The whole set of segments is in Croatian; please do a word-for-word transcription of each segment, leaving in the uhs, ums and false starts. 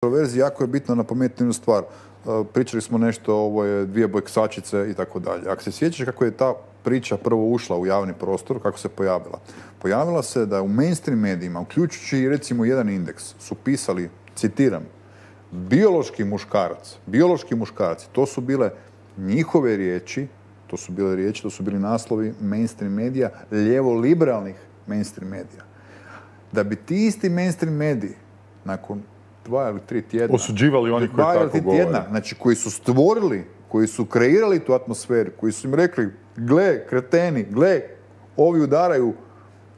kontroverziji jako je bitno napomenuti jednu stvar. Pričali smo nešto o ovoj dvije boksačice i tako dalje. Ako se sjećaš kako je ta priča prvo ušla u javni prostor, kako se pojavila? Pojavila se da u mainstream medijima, uključujući recimo jedan indeks, su pisali, citiram, biološki muškarac, biološki muškarci, to su bile njihove riječi, to su bile riječi, to su bili naslovi mainstream medija, lijevo-liberalnih mainstream medija. Da bi ti isti mainstream mediji, nakon dva ili tri tjedna, osuđivali oni koji tako govore. Znači, koji su stvorili, koji su kreirali tu atmosferu, koji su im rekli, gle, kreteni, gle, ovi udaraju,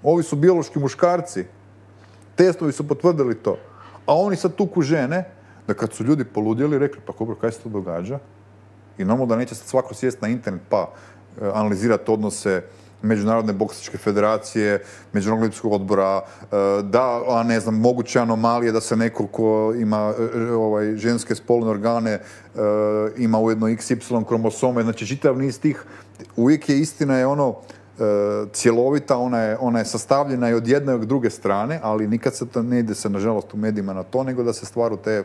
ovi su biološki muškarci. Testovi su potvrdili to. A oni sad tuku žene, da kad su ljudi poludjeli, rekli, pa dobro, kaj se to događa? I normalno da neće sad svako sjest na internet pa e, analizirati odnose Međunarodne boksačke federacije, Međunarodnog olimpijskog odbora, e, da, a ne znam, moguće anomalije da se neko ko ima e, ovaj, ženske spolne organe e, ima ujedno iks ipsilon kromosome, znači čitav niz tih, uvijek je istina je ono e, cjelovita, ona je, ona je sastavljena i od jedne i od druge strane, ali nikad se to ne ide se, nažalost, u medijima na to, nego da se stvaru te,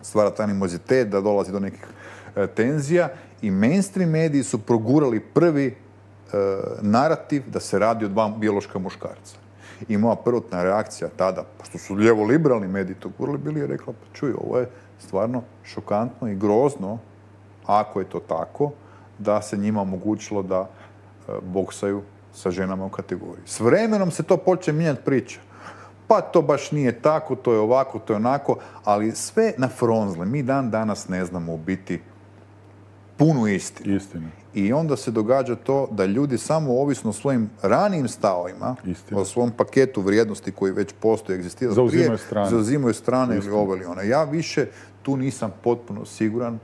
stvara taj animozitet, da dolazi do nekih e, tenzija i mainstream mediji su progurali prvi e, narativ da se radi o dva biološka muškarca. I moja prvotna reakcija tada, pošto su lijevo-liberalni mediji to gurali, bili je rekla, pa čuj, ovo je stvarno šokantno i grozno, ako je to tako, da se njima omogućilo da e, boksaju sa ženama u kategoriji. S vremenom se to počne mijenjati priča. Pa to baš nije tako, to je ovako, to je onako, ali sve na fronzle. Mi dan danas ne znamo u biti punu istinu. Istinu. I onda se događa to da ljudi samo ovisno o svojim ranijim stavovima, o svom paketu vrijednosti koji već postoji, egzistira, zauzimaju strane, zauzimaju strane ili ovo ili ono. Ja više tu nisam potpuno siguran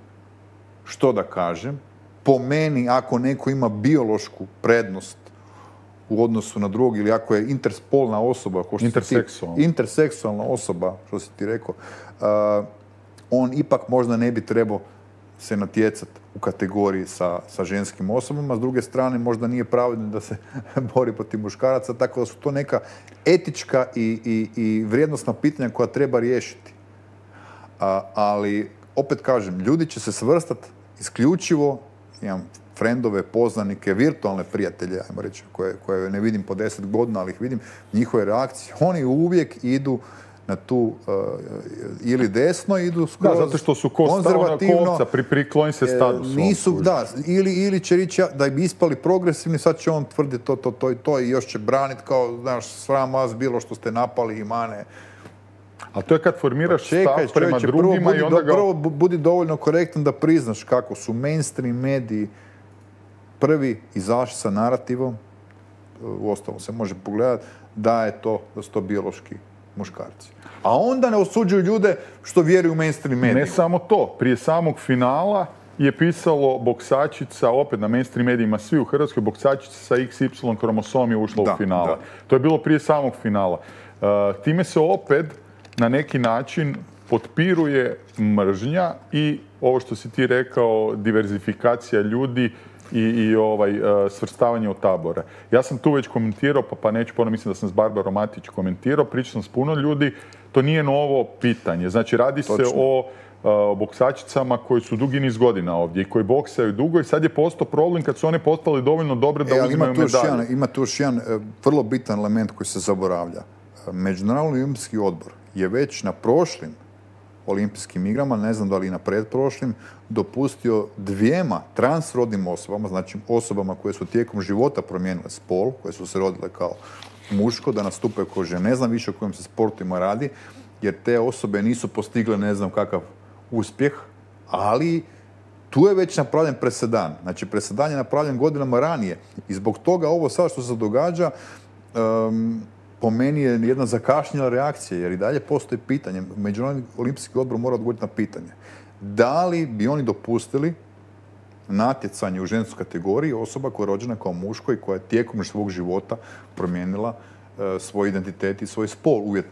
što da kažem. Po meni, ako neko ima biološku prednost u odnosu na drugog ili ako je interspolna osoba, ko što interseksualna. Ti, interseksualna osoba, što si ti rekao, uh, on ipak možda ne bi trebao se natjecati u kategoriji sa, sa ženskim osobama, s druge strane možda nije pravedno da se bori protiv muškaraca, tako da su to neka etička i, i, i vrijednosna pitanja koja treba riješiti. A, ali, opet kažem, ljudi će se svrstati isključivo, imam frendove, poznanike, virtualne prijatelje, ajmo reći, koje, koje ne vidim po deset godina, ali ih vidim, njihove reakcije, oni uvijek idu na tu uh, ili desno, idu skroz da, zato što su konzervativno, kovca, pri, prikloni se statusu. Nisu, da, ili, ili će reći da bi ispali progresivni, sad će on tvrditi to, to, to i to i još će braniti kao, znaš, sram vas bilo što ste napali i mane. A to je kad formiraš pa čekaj, stav prema čovječe, drugima prvo, i onda ga... Prvo budi dovoljno korektan da priznaš kako su mainstream mediji prvi izašli sa narativom, u ostalom se može pogledati, da je to, da su to biološki muškarci. A onda ne osuđuju ljude što vjeruju u mainstream medijima. Ne samo to. Prije samog finala je pisalo boksačica, opet na mainstream medijima, svi u Hrvatskoj, boksačica sa iks ipsilon kromosom je ušla da, u finala. Da. To je bilo prije samog finala. Uh, time se opet na neki način potpiruje mržnja i ovo što si ti rekao, diverzifikacija ljudi i, i ovaj, uh, svrstavanje u tabore. Ja sam tu već komentirao, pa, pa neću ponovno, mislim da sam s Barbarom Matić komentirao, pričao sam s puno ljudi, to nije novo pitanje. Znači, radi Točno. se o uh, boksačicama koji su dugi niz godina ovdje i koji boksaju dugo i sad je postao problem kad su one postale dovoljno dobre da e, uzimaju medalje. Jedan, ima tu još jedan e, vrlo bitan element koji se zaboravlja. Međunarodni olimpijski odbor je već na prošlim olimpijskim igrama, ne znam da li i na predprošlim, dopustio dvijema transrodnim osobama, znači osobama koje su tijekom života promijenile spol, koje su se rodile kao muško, da nastupaju kao žene. Ne znam više o kojim se sportima radi, jer te osobe nisu postigle ne znam kakav uspjeh, ali tu je već napravljen presedan. Znači, presedan je napravljen godinama ranije i zbog toga ovo sad što se događa um, po meni je jedna zakašnjela reakcija, jer i dalje postoji pitanje. Međunarodni olimpijski odbor mora odgovoriti na pitanje. Da li bi oni dopustili natjecanje u ženskoj kategoriji osoba koja je rođena kao muško i koja je tijekom svog života promijenila uh, svoj identitet i svoj spol uvjetno?